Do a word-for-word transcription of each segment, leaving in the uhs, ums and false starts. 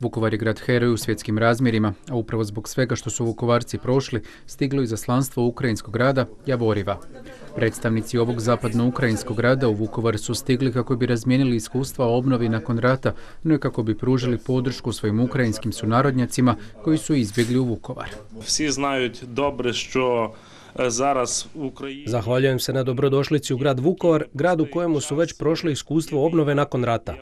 Vukovar je grad heroj u svjetskim razmjerima, a upravo zbog svega što su Vukovarci prošli, stiglo izaslanstvo ukrajinskog grada Javoriva. Predstavnici ovog zapadno-ukrajinskog grada u Vukovar su stigli kako bi razmijenili iskustva o obnovi nakon rata, no i kako bi pružili podršku svojim ukrajinskim sunarodnjacima koji su izbjegli u Vukovar. Svi znaju dobro što zaraz u Ukrajini... Zahvaljujem se na dobrodošlici u grad Vukovar, grad u kojemu su već prošli iskustvo obnove nakon rata.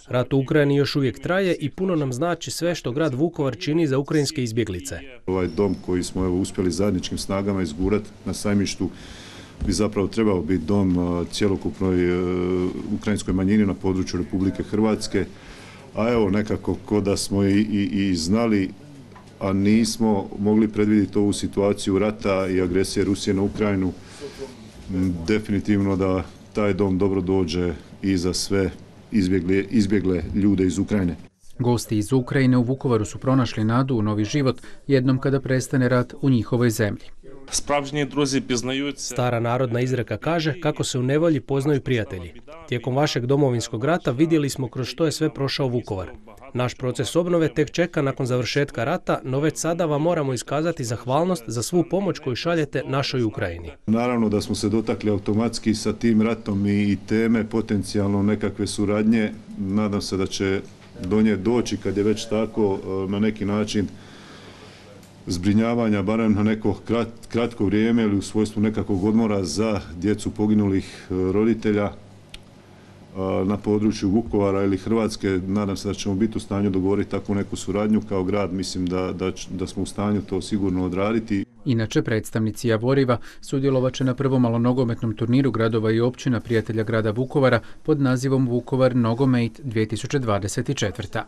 Rat u Ukrajini još uvijek traje i puno nam znači sve što grad Vukovar čini za ukrajinske izbjeglice. Ovaj dom koji smo evo, uspjeli zajedničkim snagama izgurati na Sajmištu bi zapravo trebao biti dom cjelokupnoj uh, ukrajinskoj manjini na području Republike Hrvatske. A evo nekako ko da smo i, i, i znali, a nismo mogli predvidjeti ovu situaciju rata i agresije Rusije na Ukrajinu, definitivno da taj dom dobro dođe i za sve izbjegle, izbjegle ljude iz Ukrajine. Gosti iz Ukrajine u Vukovaru su pronašli nadu u novi život jednom kada prestane rat u njihovoj zemlji. Spravžnji druzi piznaju se. Stara narodna izreka kaže kako se u nevolji poznaju prijatelji. Tijekom vašeg domovinskog rata vidjeli smo kroz što je sve prošao Vukovar. Naš proces obnove tek čeka nakon završetka rata, no već sada vam moramo iskazati zahvalnost za svu pomoć koju šaljete našoj Ukrajini. Naravno da smo se dotakli automatski sa tim ratom i teme potencijalno nekakve suradnje. Nadam se da će do nje doći kad je već tako na neki način zbrinjavanja, barem na neko krat, kratko vrijeme ili u svojstvu nekakvog odmora za djecu poginulih roditelja na području Vukovara ili Hrvatske. Nadam se da ćemo biti u stanju dogovoriti takvu neku suradnju kao grad. Mislim da, da, da smo u stanju to sigurno odraditi. Inače, predstavnici Javoriva sudjelovat će na prvom malonogometnom turniru gradova i općina prijatelja grada Vukovara pod nazivom Vukovar Nogomet dvije tisuće dvadeset četvrta.